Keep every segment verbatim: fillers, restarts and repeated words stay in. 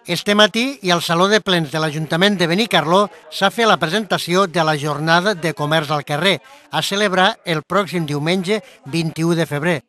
Este matí i al Saló de Plens de l'Ajuntament de Benicarló s'ha fet la presentació de la Jornada de Comerç al Carrer, a celebrar el pròxim diumenge vint-i-u de febrer.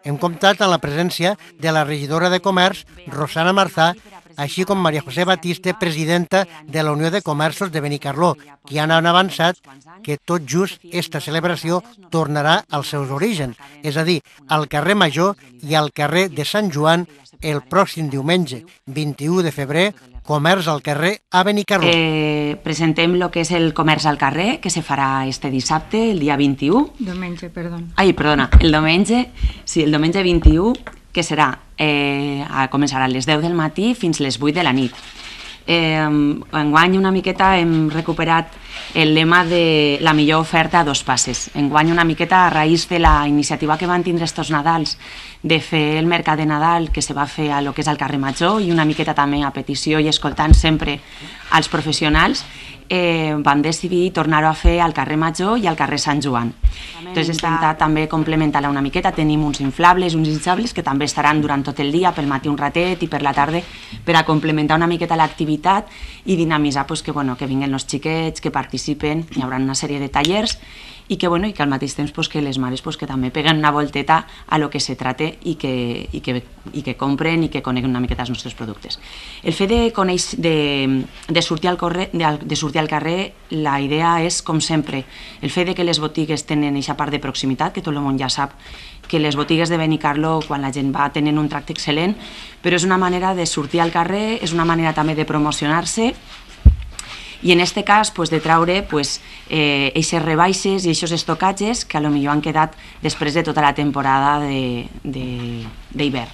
Hem comptat amb la presència de la regidora de Comerç, Rosana Marzà, així com Maria José Batiste, presidenta de la Unió de Comerços de Benicarló, qui han avançat que tot just esta celebració tornarà als seus orígens, és a dir, al carrer Major i al carrer de Sant Joan el pròxim diumenge, vint-i-u de febrer, Comerç al Carrer a Benicarló. Eh, presentem el que és el Comerç al Carrer, que se farà este dissabte, el dia vint-i-u. Diumenge, perdó. Ai, perdona, el diumenge, sí, el diumenge vint-i-u, que serà, eh, a començar a les deu del matí fins les vuit de la nit. Eh, enguany una miqueta hem recuperat el lema de la millor oferta a dos passes. Enguany una miqueta a raïs de la iniciativa que van tindre estos Nadals de fer el mercat de Nadal que se va fer a lo que és al carrer Major i una miqueta també a petició i escoltant sempre als professionals, eh, van decidir tornar-ho a fer al carrer Major i al carrer Sant Joan. Entonces hem intentat també complementar-la una miqueta, tenim uns inflables, uns hinchables que també estaran durant tot el dia, pel matí un ratet i per la tarda, per a complementar una miqueta l'activitat i dinamitzar pues, que, bueno, que vinguen els xiquets, que participen, hi haurà una sèrie de tallers i que, bueno, i que al mateix temps pues, que les mares pues, que també peguen una volteta a lo que se trate i que, i que, i que compren i que coneguen una miqueta els nostres productes. El fet de, coneix, de, de, sortir al corre, de, de sortir al carrer, la idea és, com sempre, el fet de que les botigues tenen aquesta part de proximitat, que tot el món ja sap que les botigues de Benicarló, quan la gent va, tenen un tracte excel·lent, però és una manera de sortir al carrer, és una manera també de promocionar-se i en aquest cas pues, de traure pues, eh, eixes rebaixes i eixos estocatges que a lo millor han quedat després de tota la temporada d'hivern.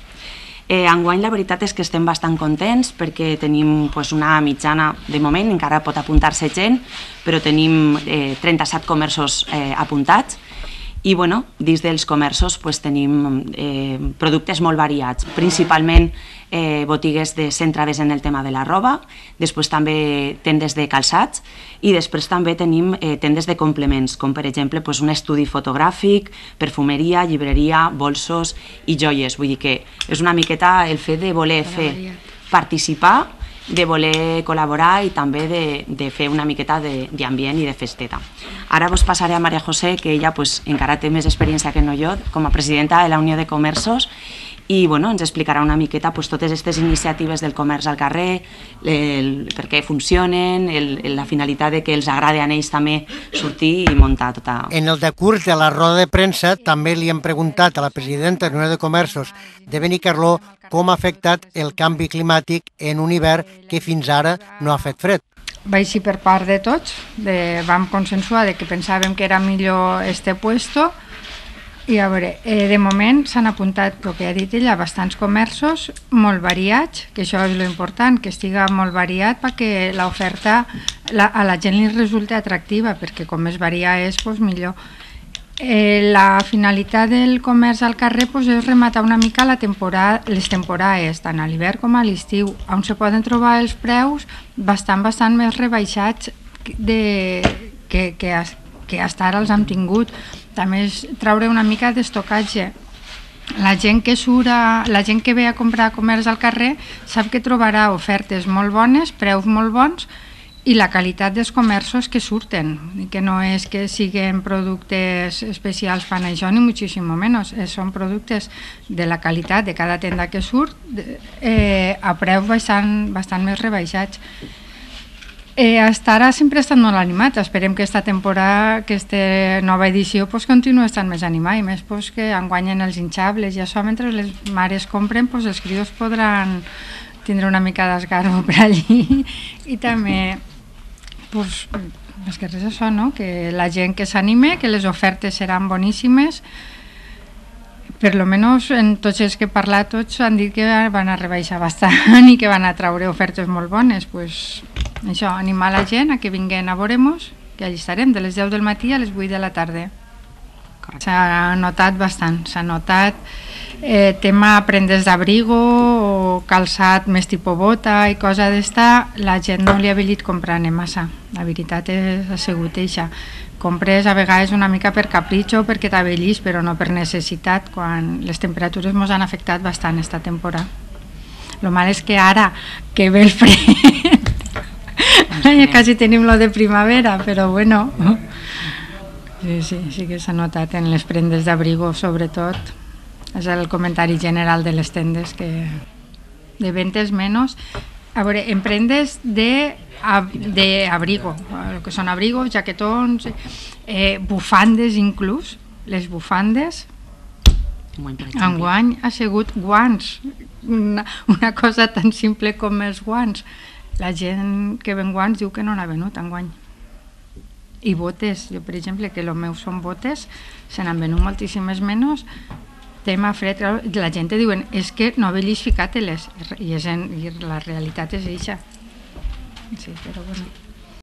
Eh, enguany la veritat és que estem bastant contents perquè tenim pues, una mitjana, de moment encara pot apuntar-se gent, però tenim eh, trenta-set comerços eh, apuntats i bueno, dins dels comerços pues, tenim eh, productes molt variats, principalment eh, botigues de, centrades en el tema de la roba, després també tendes de calçats i després també tenim eh, tendes de complements, com per exemple pues, un estudi fotogràfic, perfumeria, llibreria, bolsos i joies. Vull dir que és una miqueta el fet de voler fer participar, de voler col·laborar i també de, de fer una miqueta d'ambient i de festeta. Ara vos passaré a Maria José, que ella pues, encara té més experiència que no jo, com a presidenta de la Unió de Comerços, i bueno, ens explicarà una miqueta pues, totes aquestes iniciatives del comerç al carrer, el, per què funcionen, el, la finalitat de que els agradi a ells també sortir i muntar tota... En el decurs de la roda de premsa també li hem preguntat a la presidenta de la Unió de Comerços de Benicarló com ha afectat el canvi climàtic en un hivern que fins ara no ha fet fred. Va així per part de tots, de, vam consensuar de que pensàvem que era millor este puesto. I a veure, eh, de moment s'han apuntat, el que ha dit ella, bastants comerços, molt variats, que això és l'important, que estiga molt variat perquè l'oferta la, a la gent li resulta atractiva, perquè com més varia és, doncs millor. Eh, la finalitat del comerç al carrer pues, és rematar una mica la temporada, les temporades, tant a l'hivern com a l'estiu, on se poden trobar els preus bastant, bastant més rebaixats de, que, que, que fins ara els hem tingut. També és traure una mica d'estocatge. La gent que surt, a, la gent que ve a comprar comerç al carrer sap que trobarà ofertes molt bones, preus molt bons i la qualitat dels comerços que surten, que no és que siguin productes especials fan això ni moltíssim menys, són productes de la qualitat de cada tenda que surt eh, a preus bastant, bastant més rebaixats. Eh, hasta ara sempre ha estat molt animat, esperem que aquesta temporada, aquesta nova edició pues, continuï estant més animada i més pues, que enguanyen els hinchables i això mentre les mares compren pues, els crios podran tindre una mica d'esgarro per allí i també pues, és que res això, no? Que la gent que s'anime, que les ofertes seran boníssimes. Per lo menos en tots els que he parlat tots han dit que van a rebaixar bastant i que van a traure ofertes molt bones. Pues, això, animar la gent a que vinguin a veure-nos, que allà estarem de les deu del matí a les vuit de la tarda. S'ha notat bastant, s'ha notat eh, tema prendes d'abrigo o calçat més tipus bota i cosa d'esta, la gent no li ha velit comprant-ne massa, la veritat és, ha sigut eixa. Compres a vegades una mica per capritxo perquè t'avellís, però no per necessitat, quan les temperatures ens han afectat bastant esta temporada. Lo mal és que ara que ve el fred quasi tenim lo de primavera, però bueno, sí, sí, sí que s'ha notat en les prendes d'abrigo, sobretot. És el comentari general de les tendes, que de ventes menys. A veure, en prendes d'abrigo, el que són abrigos, jaquetons, eh, bufandes inclús, les bufandes, enguany ha sigut guants, una, una cosa tan simple com els guants. La gent que ven guants diu que no n'ha venut enguany. I botes, jo per exemple, que els meus són botes, se n'han venut moltíssimes menys. Tema fred, la gent te diuen és que no haver-los ficat-les, i, i la realitat és eixa. Sí, però bueno.